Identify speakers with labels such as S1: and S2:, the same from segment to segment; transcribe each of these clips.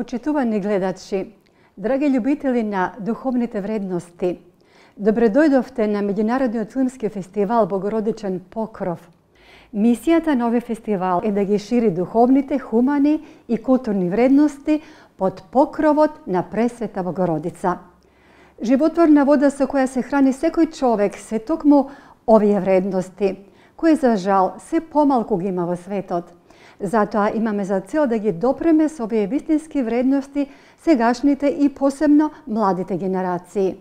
S1: Почитувани гледачи, драги љубители на духовните вредности, добредојдовте на Меѓународниот филмски фестивал Богородичен покров. Мисијата на овој фестивал е да ги шири духовните, хумани и културни вредности под покровот на Пресвета Богородица. Животворна вода со која се храни секој човек се токму овие вредности, кои за жал се помалку ги има во светот. Затоа имаме за цел да ги допреме со овие вистински вредности сегашните и посебно младите генерации,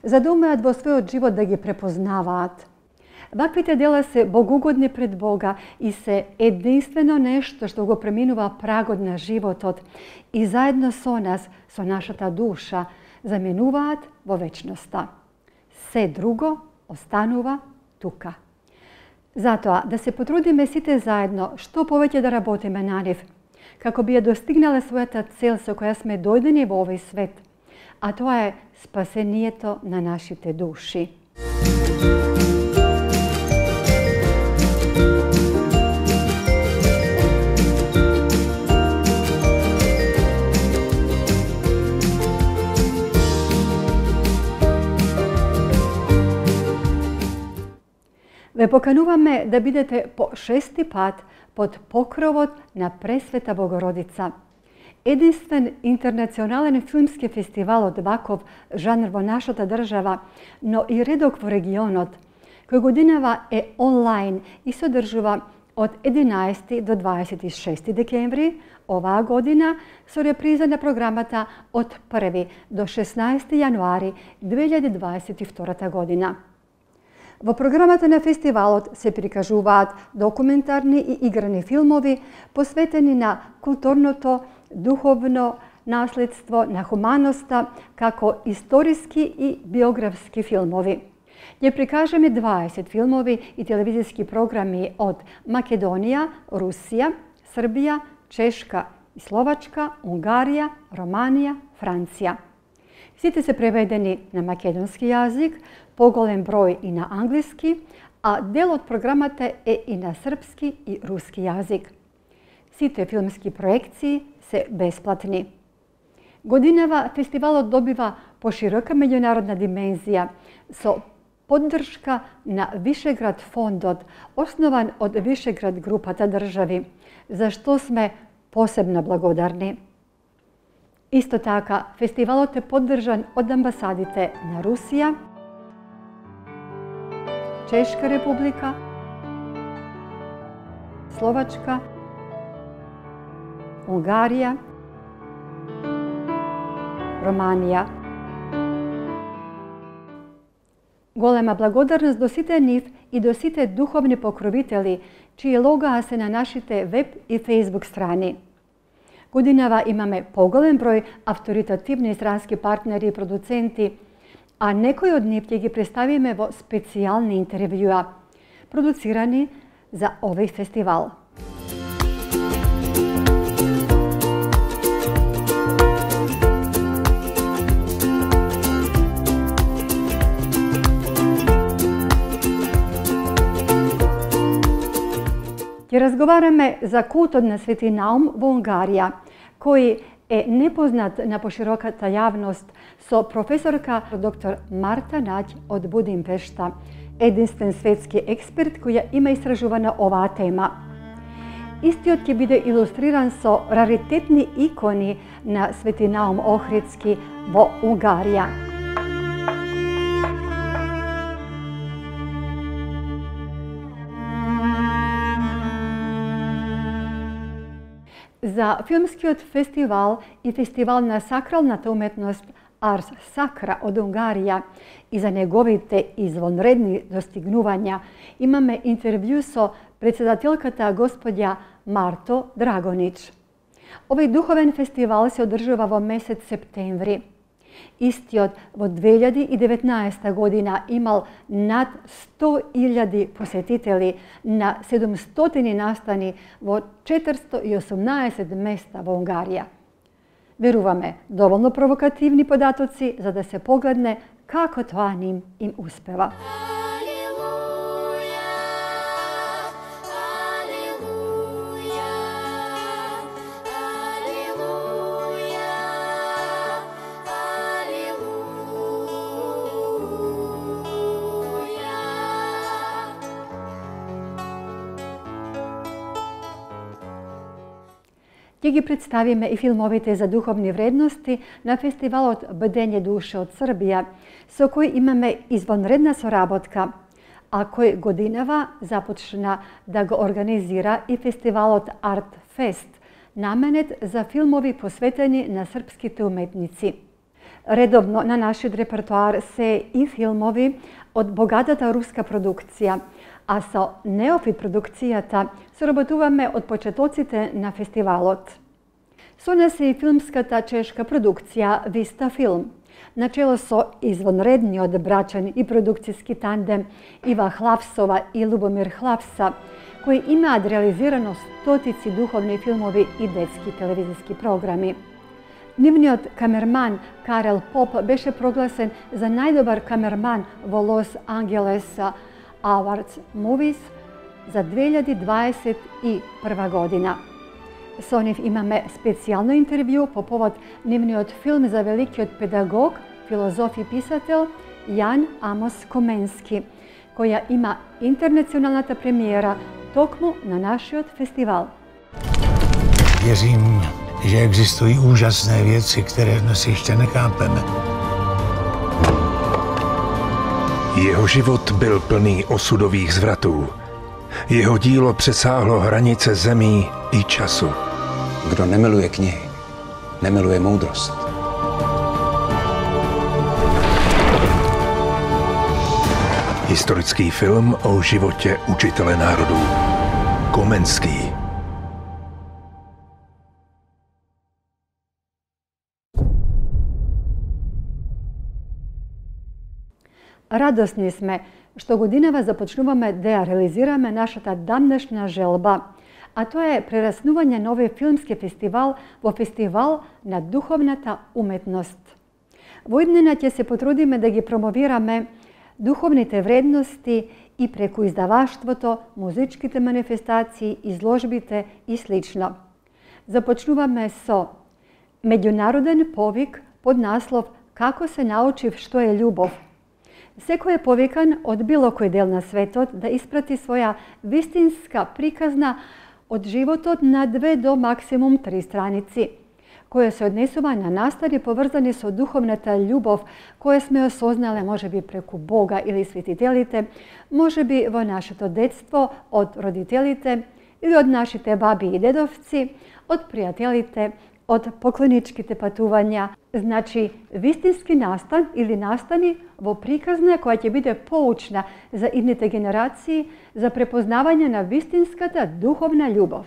S1: за да умеат во својот живот да ги препознаваат. Ваквите дела се богугодни пред Бога и се единствено нешто што го преминува прагот на животот и заедно со нас, со нашата душа, заменуваат во вечноста. Се друго останува тука. Затоа, да се потрудиме сите заедно што повеќе да работиме на нив, како би ја достигнале својата цел со која сме дојдени во овој свет, а тоа е спасението на нашите души. Ве покануваме да бидете по 6-ти пат под покровот на Пресвета Богородица. Единствен интернационален филмски фестивал од ваков жанр во нашата држава, но и редок во регионот, кој годинава е онлайн и се одржува од 11 до 26 декември оваа година со реприза на програмата од 1 до 16 јануари 2022 година. Во програмата на фестивалот се прикажуваат документарни и играни филмови посветени на културното, духовно наследство, на хуманоста, како историски и биографски филмови. Ќе прикажеме 20 филмови и телевизиски програми од Македонија, Русија, Србија, Чешка и Словачка, Унгарија, Романија, Франција. Сите се преведени на македонски јазик, поголем број и на англиски, а дел од програмата е и на српски и руски јазик. Сите филмски проекции се бесплатни. Годинава фестивалот добива поширока меѓународна димензија со поддршка на Вишеград фондот, основан од Вишеград групата држави, за што сме посебно благодарни. Исто така, фестивалот е поддржан од амбасадите на Русија, Чешка република, Словачка, Унгарија, Романија. Голема благодарност до сите нив и до сите духовни покровители, чии логоа се на нашите веб и фејсбук страни. Годинава имаме поголем број авторитативни странски партнери и продуценти, а некои од нив ќе ги представиме во специјални интервјуа, продуцирани за овој фестивал. Ќе разговараме за култот на Свети Наум во Унгарија, кој е непознат на пошироката јавност, со професорка доктор Марта Наѓ од Будимпешта, единствен светски експерт која има истражувана оваа тема. Истиот ќе биде илустриран со раритетни икони на Свети Наум Охридски во Унгарија. За филмскиот фестивал и фестивал на сакралната уметност Арс Сакра од Унгарија и за неговите извонредни достигнувања имаме интервју со председателката господја Марто Драгонич. Овој духовен фестивал се одржува во месец септември. Истиот во 2019 година имал над 100.000 посетители на 700 настани во 418 места во Унгарија. Веруваме, доволно провокативни податоци за да се погледне како тоа им успева. Ќе ги представиме и филмовите за духовни вредности на фестивалот Бдење душе од Србија, со кој имаме извонредна соработка, а кој годинава започна да го организира и фестивалот Арт Фест, наменет за филмови посветени на српските уметници. Редовно на нашиот репертоар се и филмови од богатата руска продукција, а со неофит продукцијата соработуваме од почетоците на фестивалот. Со нас е и филмската чешка продукција Виста Филм, начело со извонредниот брачен и продукцијски тандем Ива Хлавсова и Лубомир Хлавса, кои имаат реализирано стотици духовни филмови и детски телевизиски програми. Нивниот камерман Карел Поп беше прогласен за најдобар камерман во Лос Анджелес Awards Movies за 2021 година. Со нив имаме специјално интервју по повод нивниот филм за великиот педагог, филозоф и писател Јан Амос Коменски, која има интернационалната премиера токму на нашиот фестивал.
S2: Věřím, že existují úžasné věci, které dnes ještě nechápeme.
S3: Jeho život byl plný osudových zvratů. Jeho dílo přesáhlo hranice zemí i času.
S4: Kdo nemiluje knihy, nemiluje moudrost.
S3: Historický film o životě učitele národů. Komenský.
S1: Радосни сме што годинава започнуваме да ја реализираме нашата дамнешна желба, а тоа е прераснување на овој филмски фестивал во фестивал на духовната уметност. Во иднина ќе се потрудиме да ги промовираме духовните вредности и преку издаваштвото, музичките манифестации, изложбите и слично. Започнуваме со меѓународен повик под наслов "Како се научив што е љубов". Секој е повикан од било кој дел на светот да испрати своја вистинска приказна од животот на 2 до максимум 3 страници, која се однесува на настани поврзани со духовната љубов која сме осознале можеби преку Бога или светителите, можеби во нашето детство од родителите или од нашите баби и дедовци, од пријателите, од поклоничките патувања. Значи, вистински настан или настани во приказна која ќе биде поучна за идните генерации за препознавање на вистинската духовна љубов.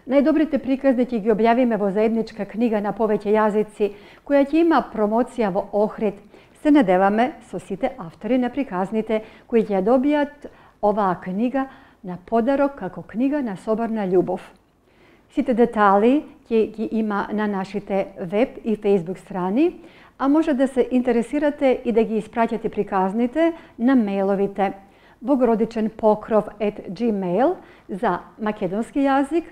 S1: Најдобрите приказни ќе ги објавиме во заедничка книга на повеќе јазици, која ќе има промоција во Охрид. Се надеваме со сите автори на приказните кои ќе ја добијат оваа книга на подарок како книга на соборна љубов. Сите детали ќе ги има на нашите веб и фейсбук страни, а може да се интересирате и да ги испраќате приказните на мејловите bogorodičenpokrov@gmail за македонски јазик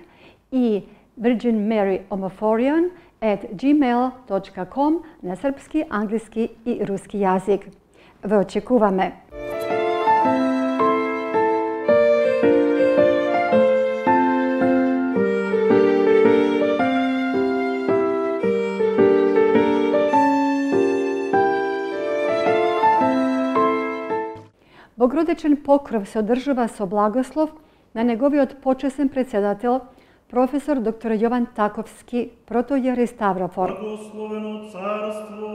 S1: и virginmaryomoforion@gmail.com на српски, англиски и руски јазик. Ве очекуваме! Богородичен покров се одржува со благослов на неговиот почесен председател, професор доктор Јован Таковски, протоиерей Ставрофор.
S5: Благословено царство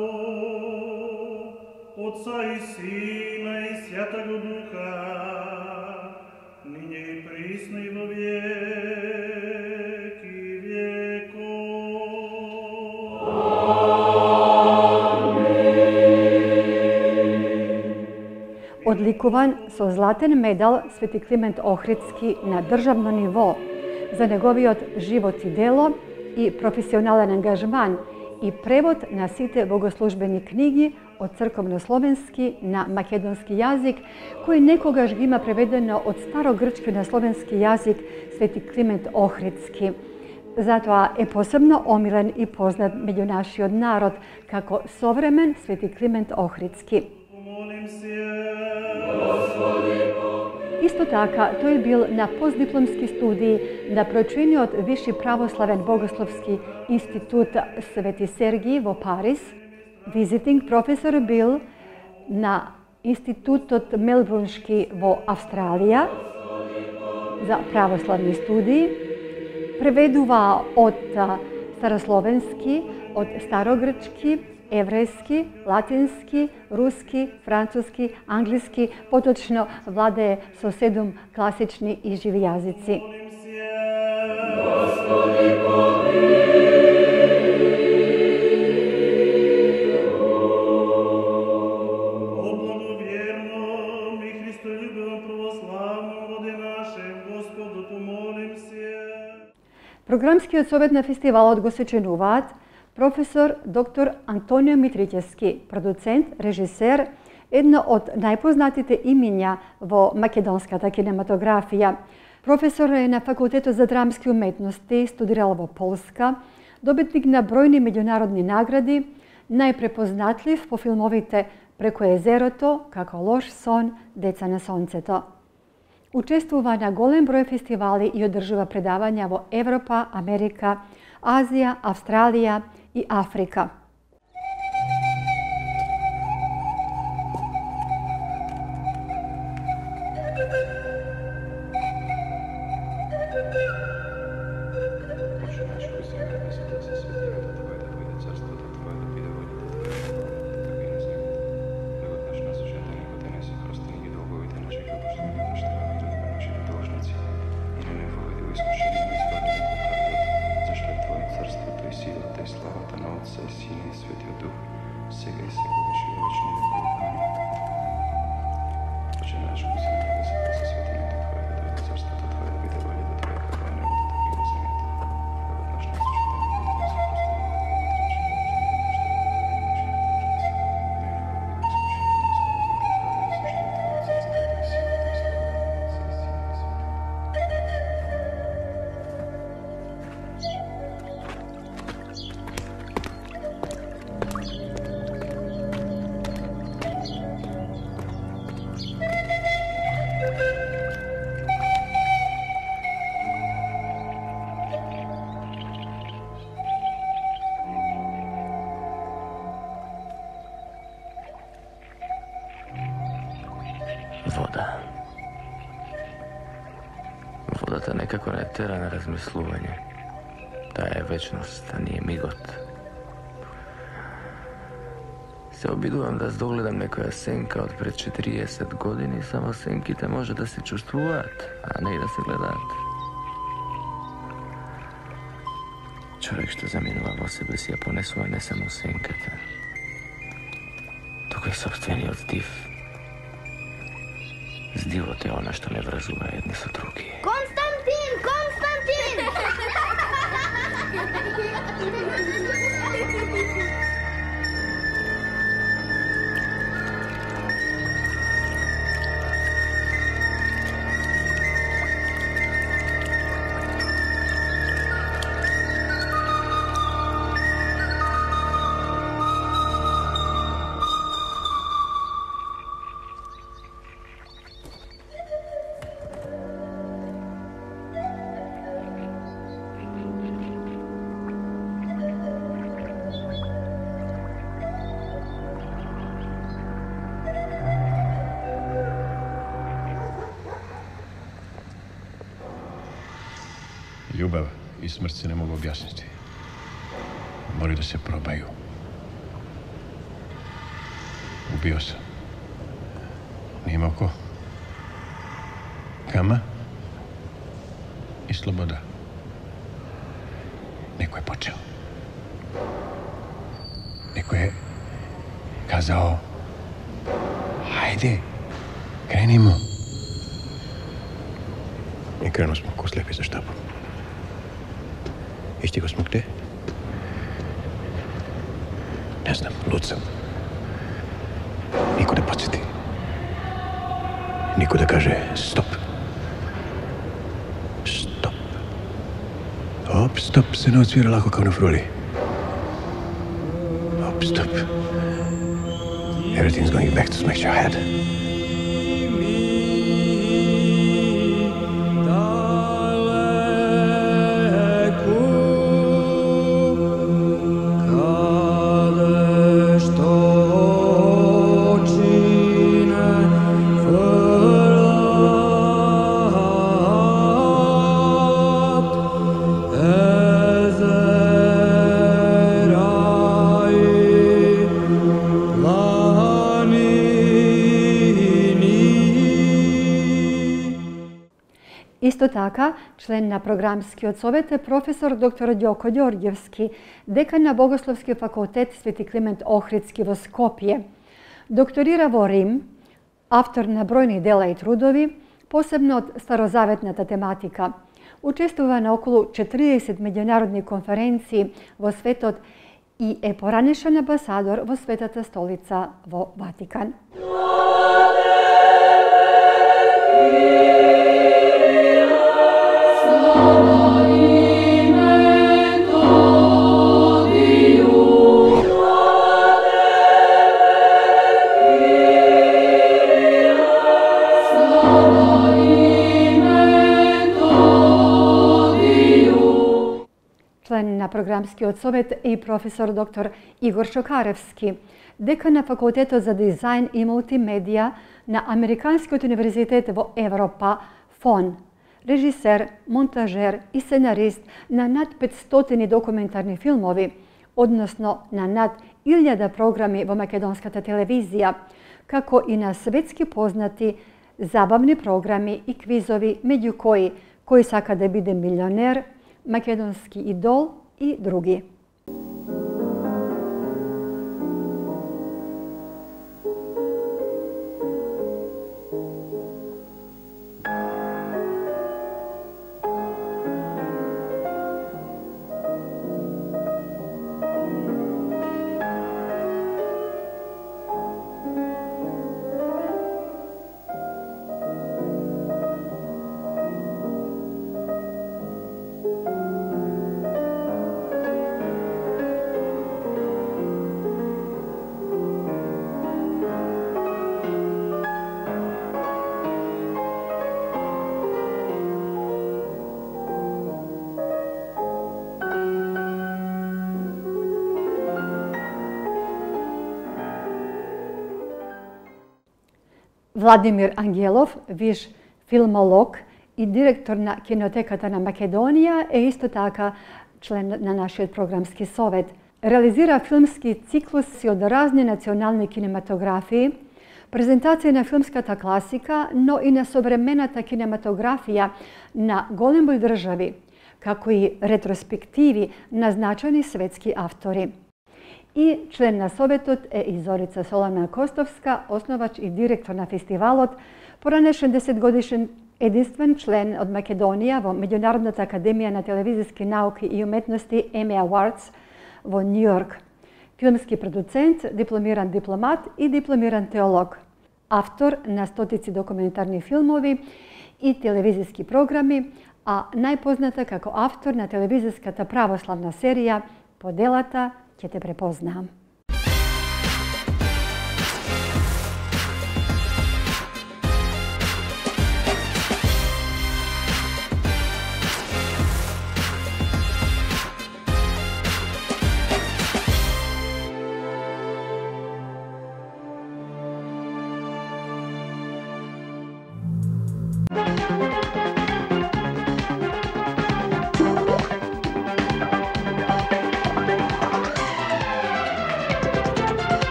S5: Отца и Сина и Святаго Духа, ниње и присно и во веки веков.
S1: Одликуван со златен медал Свети Климент Охридски на државно ниво за неговиот живот и дело и професионален ангажман и превод на сите богослужбени книги од црковнословенски на македонски јазик, кој некогаш ги има преведено од старогрчки на словенски јазик Свети Климент Охридски. Затоа е посебно омилен и познат меѓу нашиот народ како современ Свети Климент Охридски.
S5: Молим се, Господи,
S1: Исто така, тој бил на постдипломски студии на прочениот Виши православен богословски институт Свети Сергиј во Париз. Визитинг професор бил на Институтот Мелбурншки во Австралија за православни студии. Преведува од старословенски, од старогрчки, еврејски, латински, руски, француски, англиски, поточно владее со 7 класични и живи јазици. Програмскиот совет на фестивалот го сочинуваат професор доктор Антонио Митричевски, продуцент, режисер, едно од најпознатите имиња во македонската кинематографија. Професор е на Факултетот за драмски уметности, студирал во Полска, добитник на бројни меѓународни награди, најпрепознатлив по филмовите Преку езерото, Како лош сон, Деца на сонцето. Учествува на голем број фестивали и одржува предавања во Европа, Америка, Азија, Австралија и Африка.
S6: Вода. Водата некако не тера на размислување. Таа е вечност, а ние мигот. Се обидувам да здогледам некоја сенка од пред 40 години, само сенките може да се чувствуваат, а не и да се гледаат. Човек што заминува во себе си ја понесува не само сенката, туку и собствениот здив. Здивот е она што не врзува едни со други.
S7: Константин! Константин!
S8: Љубав и смрт се не могу објаснити. Мори да се пробају. Убио сам. Немако. Кама и слобода. Некој е почел. Некој е казао: хајде, кренимо. И крено смо ко слепи за штапом. И стиго смо где? Не знам, луд сам. Никој да подсети. Никој да каже стоп. Стоп. Оп, стоп, се не отсвира лако као на фрули. Оп, стоп. Everything's going back to smash your head.
S1: Исто така, член на програмскиот совет е професор доктор Ѓоко Ѓорѓевски, декан на Богословски факултет Свети Климент Охридски во Скопје. Докторира во Рим, автор на бројни дела и трудови, посебно од старозаветната тематика. Учествува на околу 40 меѓународни конференции во светот и е поранешен амбасадор во Светата столица во Ватикан. Член на програмскиот совет е и професор доктор Игор Шокаревски, декан на факултетот за дизајн и мултимедија на Американскиот универзитет во Европа, ФОН, режисер, монтажер и сценарист на над 500 документарни филмови, односно на над 1000 програми во македонската телевизија, како и на светски познати забавни програми и квизови, меѓу кои сака да биде милионер, Македонски идол и други. Владимир Ангелов, виш филмолог и директор на Кинотеката на Македонија, е исто така член на нашиот програмски совет. Реализира филмски циклуси од разни национални кинематографии, презентација на филмската класика, но и на современата кинематографија на голем број држави, како и ретроспективи на значајни светски автори. И член на советот е и Зорица Солана Костовска, основач и директор на фестивалот, поранешен 10-годишен единствен член од Македонија во Меѓународната академија на телевизиски науки и уметности Emmy Awards во Нью Йорк. Филмски продуцент, дипломиран дипломат и дипломиран теолог. Автор на стотици документарни филмови и телевизиски програми, а најпозната како автор на телевизиската православна серија "По делата ќе те препознам".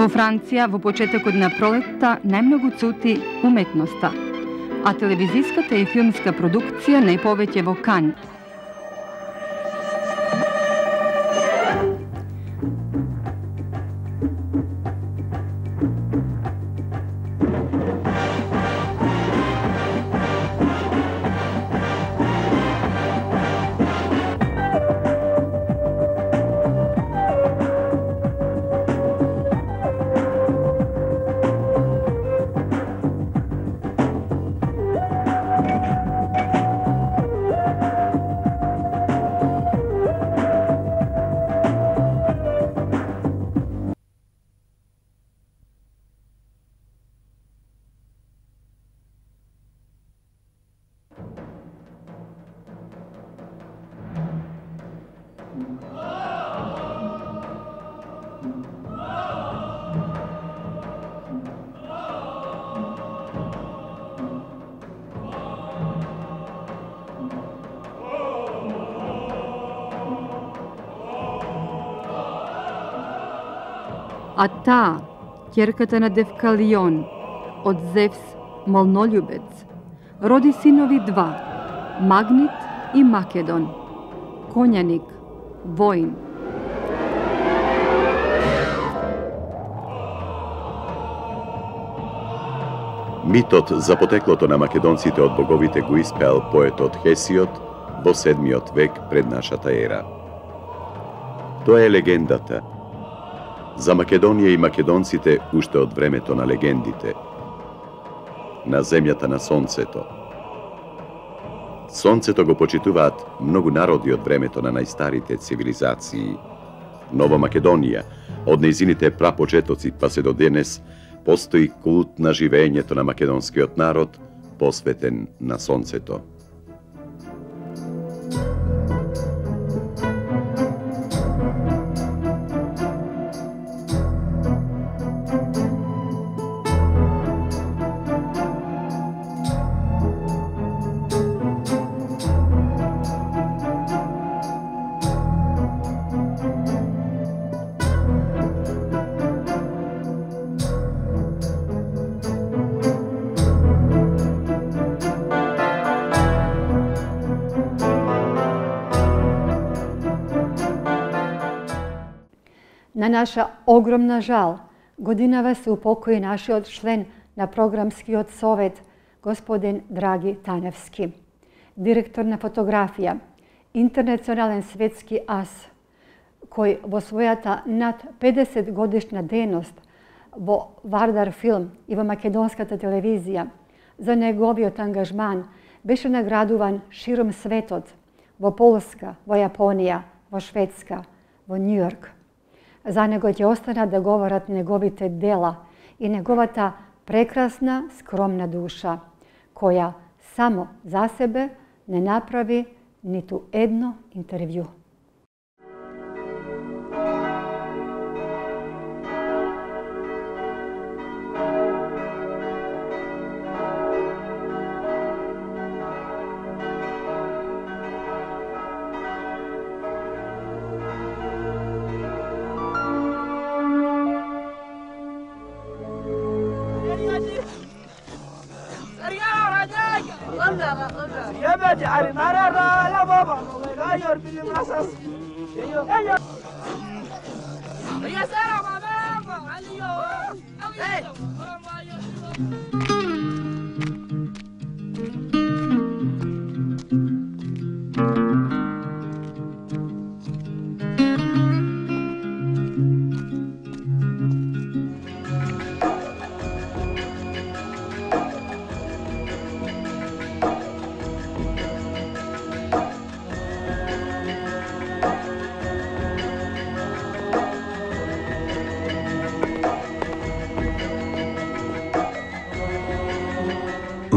S9: Во Франција, во почетокот на пролетта, најмногу цути уметноста, а телевизиската и филмска продукција најповеќе во Кан. А таа, ќерката на Девкалион, од Зевс молнољубец, роди синови два, Магнит и Македон, конјаник, воин.
S10: Митот за потеклото на македонците од боговите го испеал поетот Хесиод во 7. век пред нашата ера. Тоа е легендата за Македонија и македонците уште од времето на легендите, на земјата на сонцето. Сонцето го почитуваат многу народи од времето на најстарите цивилизации, но во Македонија, од нејзините прапочетоци па се до денес, постои култ на живеењето на македонскиот народ, посветен на сонцето.
S1: На наша огромна жал, годинава се упокои нашиот член на програмскиот совет, господин Драги Таневски, директор на фотографија, интернационален светски ас, кој во својата над 50 годишна дејност во Вардар филм и во македонската телевизија за неговиот ангажман беше наградуван широм светот, во Полска, во Јапонија, во Шведска, во Њујорк. За него ќе останат да говорат неговите дела и неговата прекрасна, скромна душа, која само за себе не направи ниту едно интервју.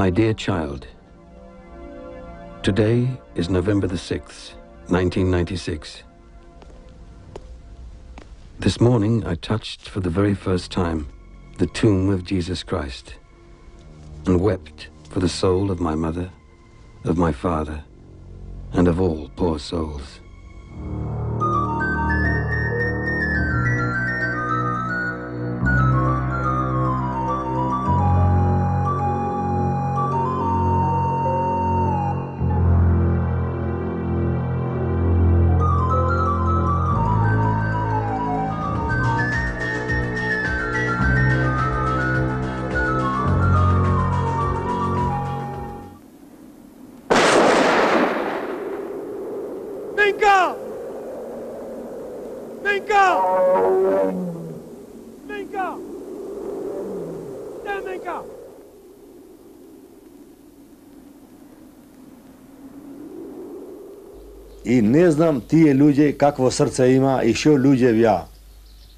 S11: My dear child, today is November the 6th, 1996. This morning I touched for the very first time the tomb of Jesus Christ and wept for the soul of my mother, of my father, and of all poor souls.
S12: И не знам тие луѓе какво срце има и што луѓе вја.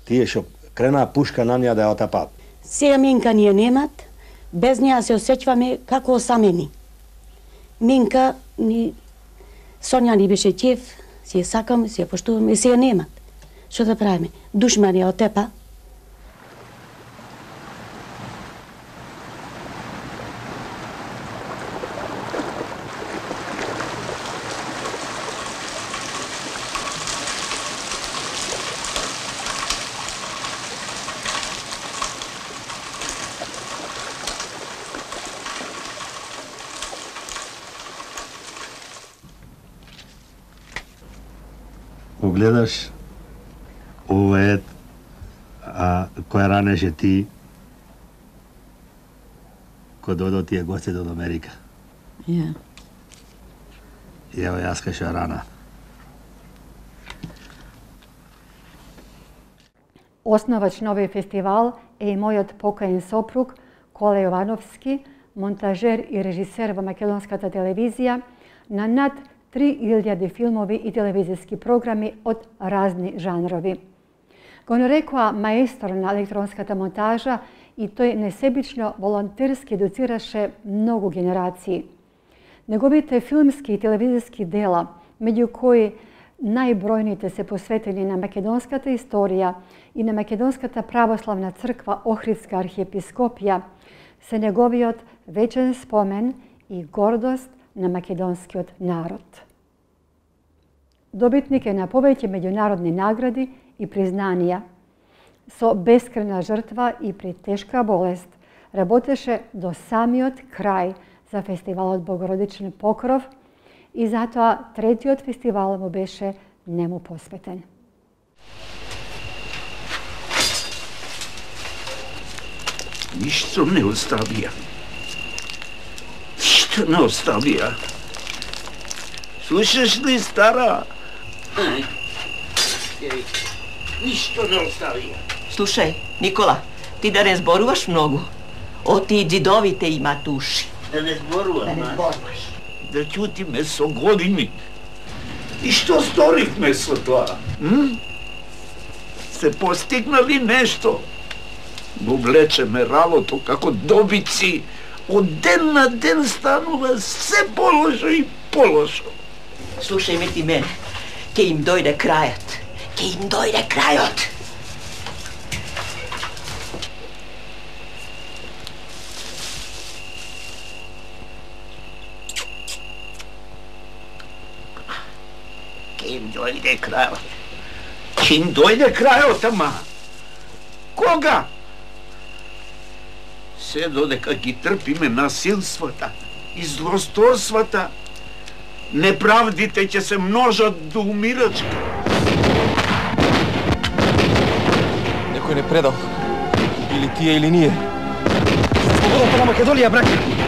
S12: Тие што крена пушка на неа да ја отапат.
S13: Сега Минка ни е немат, без неа се осеќаваме како осамени. Минка ни Сонја ни беше ќеф, си ја сакам, си ја поштуваме, сега немат. Што да правиме? Душман ја отепа.
S12: гледаш овој кој ранеше ти, кој додо тие гостите од Америка.
S13: Ja.
S12: И ево јас кај рана.
S1: Основач на овој фестивал е и мојот покоен сопруг Коле Јовановски, монтажер и режисер во македонската телевизија на над 3000 филмови и телевизиски програми од разни жанрови. Го нарекоа маестор на електронската монтажа и тој несебично волонтерски едуцираше многу генерации. Неговите филмски и телевизиски дела, меѓу кои најбројните се посветени на македонската историја и на Македонската православна црква Охридска архиепископија, се неговиот вечен спомен и гордост на македонскиот народ. Добитник е на повеќе меѓународни награди и признанија. Со бескрена жртва и при тешка болест работеше до самиот крај за фестивалот Богородичен покров и затоа третиот фестивал му беше нему посветен.
S14: Ништо не оставија. Ништо не оставија. Слушаш ли, стара? Ништо не оставија.
S15: Слушај, Никола, ти да не зборуваш многу. Оти и дзидовите имат уши.
S14: Да не зборувам,
S15: Да не зборуваш.
S14: Да ќутиме со години. И што сторивме со тоа? Се постигнали нешто? Го влечеме ралото како добици. Од ден на ден станува се полошо и полошо.
S15: Слушај ме ти мене, ке им дојде крајот. Ке им дојде крајот.
S14: Ке им дојде крајот. Ке им дојде крајот, ама. Кога? Се додека ги трпиме насилствата и злосторствата, неправдите ќе се множат до умирачка.
S16: Некој не предал. Или тие, или ние. Слободата на Македонија, браке!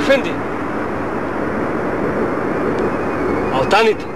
S16: Ефенди! Алтаните!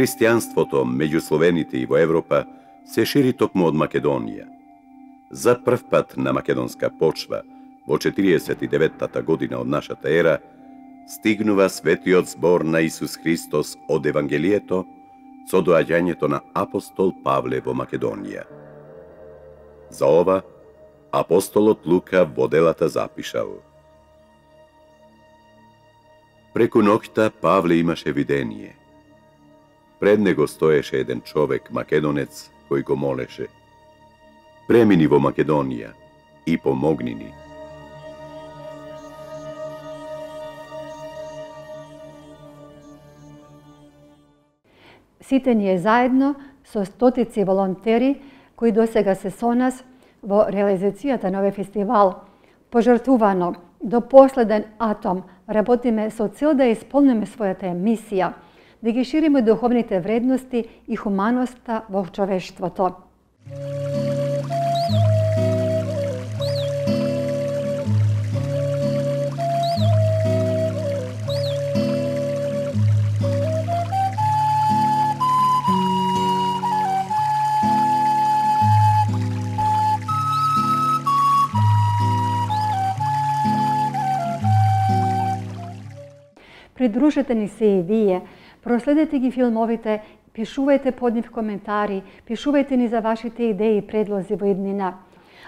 S10: Христијанството меѓу словените и во Европа се шири токму од Македонија. За прв пат на македонска почва, во 49-та година од нашата ера, стигнува светиот збор на Исус Христос од Евангелието со доаѓањето на апостол Павле во Македонија. За ова, апостолот Лука во делата запишал: Преку ноќта Павле имаше видение. Пред него стоеше еден човек, македонец, кој го молеше: Премини во Македонија и помогни ни.
S1: Сите ние заедно со стотици волонтери кои досега се со нас во реализацијата на овој фестивал, пожртвувано до последен атом, работиме со цел да исполниме својата мисија, да ги шириме духовните вредности и хуманоста во човештвото. Придружете ни се и вие, проследете ги филмовите, пишувајте под нив коментари, пишувајте ни за вашите идеи и предлози во иднина.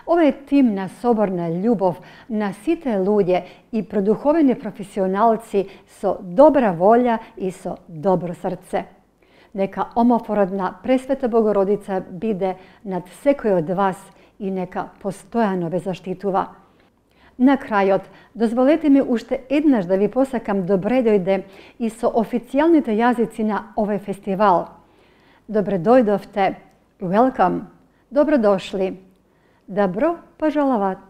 S1: Ова е тим на соборна љубов на сите луѓе и продуховени професионалци со добра волја и со добро срце. Нека омофородна Пресвета Богородица биде над секој од вас и нека постојано ве заштитува. На крајот, дозволете ми уште еднаш да ви посакам добре дојде и со официјалните јазици на овој фестивал. Добре дојдовте, welcome, добродошли, добро пожаловат.